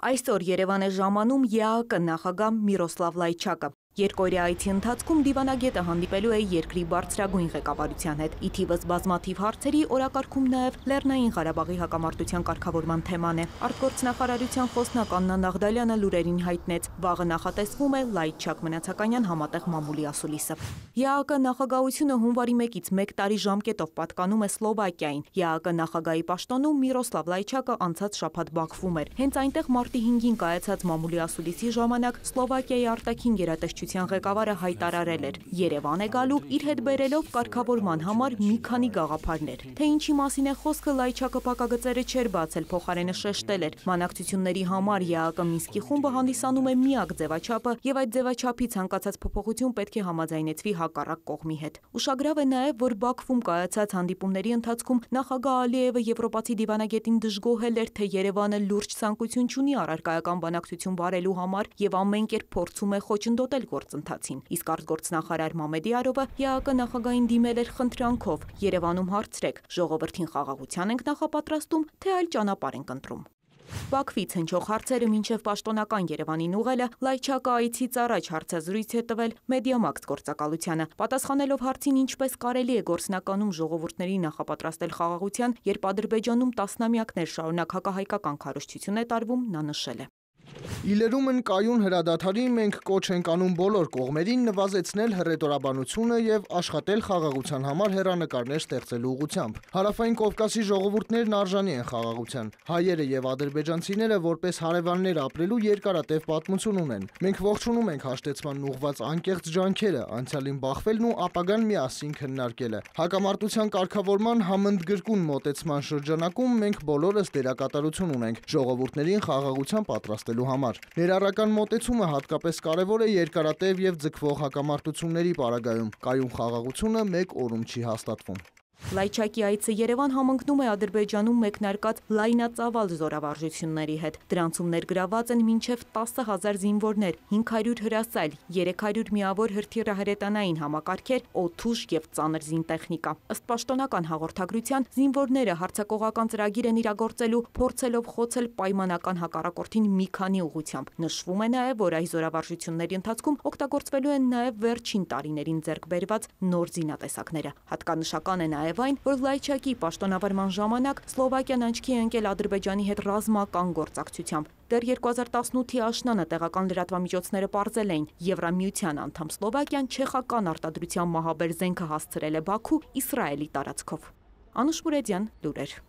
Այսօր Երևան է ժամանում ԵԱՀԿ նախագահ Միրոսլավ Լայչակը։ Երկօրյա այցի ընթացքում դիվանագետը հանդիպելու է երկրի բարձրագույն ղեկավարության հետ։ Ի թիվս բազմաթիվ հարցերի օրակարգում նաև Լեռնային Ղարաբաղի հակամարտության կարգավորման թեման է։ Արտգործնախարարության խոսնակ Աննա Նաղդալյանը լուրերին հայտնեց, վաղը նախատեսվում է Լայչակ Մնացականյան համատեղ մամուլի ասուլիսը։ ԵԱՀԿ նախագահությունը հունվարի 1-ից 1 տարի ժամկետով պատկանում է Սլովակիային։ ԵԱՀԿ նախագահի պաշտոնում Միրոսլավ Լայչակը անցած շաբաթ Բաքվում էր։ Հենց այնտեղ մարտի 5-ին կայացած մամուլի ասուլիսի ժամանակ Սլովակիայի արտաքին գերատեսչության ղեկավարը հայտարարել էր՝ Երևան է գալու իր հետ բերելով կարգավորման համար մի քանի գաղափարներ։ Թե ինչի մասին է խոսքը, Լայչակը փակագծերը չէր բացել, փոխարենը շեշտել էր։ Բանակցությունների համար ԵԱՀԿ Մինսկի խումբը հանդիսանում է միակ ձևաչափը, եւ այդ ձևաչափի ցանկացած փոփոխություն պետք է համաձայնեցվի հակառակ կողմի հետ։ Ուշագրավ է նաև, որ Բաքվում կայացած հանդիպումների ընթացքում նախագահ Ալիևը եվրոպացի դիվանագետին դժգոհել էր, թե Երևանը լուրջ ցանկություն չունի առարկայական բանակցություն վարելու համար եւ ամեն կերպ փորձում է խոչընդոտել գործընթացին։ Իսկ արտգործնախարար Մամեդիարովը ԵԱՀԿ նախագահին դիմել էր խնդրանքով՝ Երևանում հարցրեք, ժողովրդին խաղաղության ենք նախապատրաստում, թե այլ ճանապարհ ենք ընտրում։ Բաքվից հնչող հարցերը մինչև պաշտոնական Երևանին ուղղելը Լայչակը այցից առաջ հարցազրույց է տվել Մեդիամաքս գործակալությանը, պատասխանելով հարցին ինչպես կարելի է գործնականում ժողովուրդների նախապատրաստել խաղաղության, երբ Ադրբեջանում տասնամյակներ շարունակ հակահայկական քարոզչություն է տարվում, նա նշել է. Իլերումն կայուն հրադադարի մենք կոչ ենք անում բոլոր կողմերին նվազեցնել հռետորաբանությունը եւ աշխատել խաղաղության համար հեռանկարներ ստեղծելու ուղղությամբ։ Հարավային Կովկասի ժողովուրդներն արժանի են խաղաղության։ Հայերը եւ ադրբեջանցիները որպես հարևաններ ապրելու երկարատև պատմություն ունեն։ Մենք ողջունում ենք հաշտեցման ուղղված անկեղծ ջանքերը, անցյալին բախվելն ու ապագան միասին քննարկելը։ Հակամարտության կարգավորման համընդգրկուն մոտեցման շրջանակում մենք բոլորս դերակատարություն ունենք ժողովուրդներին խաղաղության պատրաստելու համար։ Ներառական մոտեցումը հատկապես կարևոր է երկարատև եւ ձգվող հակամարտությունների պարագայում։ Կայուն խաղաղությունը մեկ օրում չի հաստատվում։ Լայչակի այցը Երևան համընկնում է Ադրբեջանում մեկնարկած լայնածավալ զորավարժությունների հետ։ Դրանցում ներգրաված են մինչև 10,000 զինվորներ, 500 հրասայլ, 300 միավոր հրթիռահրետանային համակարգեր, օդուժ եւ ծանր զինտեխնիկա։ Ըստ պաշտոնական հաղորդագրության, զինվորները հարձակողական ծրագիր են իրագործելու, փորձելով խոցել պայմանական հակառակորդին մի քանի ուղղությամբ։ Նշվում է նաև, որ այս զորավարժությունների ընթացքում օգտագործվելու են նաև վերջին տարիներին ձեռք բերված նոր զինատեսակները։ Հատկանշական է նաև այն, որ Լայչակի պաշտոնավարման ժամանակ Սլովակիան աչքի է ընկել Ադրբեջանի հետ ռազմական գործակցությամբ։ Դեռ 2018-ի աշնանը տեղական լրատվամիջոցները պարզել էին, Եվրամիության անդամ Սլովակիան չեխական արտադրության մահաբեր զենքը հասցրել է Բաքու Իսրայելի տարածքով։ Անուշ Մուրեդյան, լուրեր։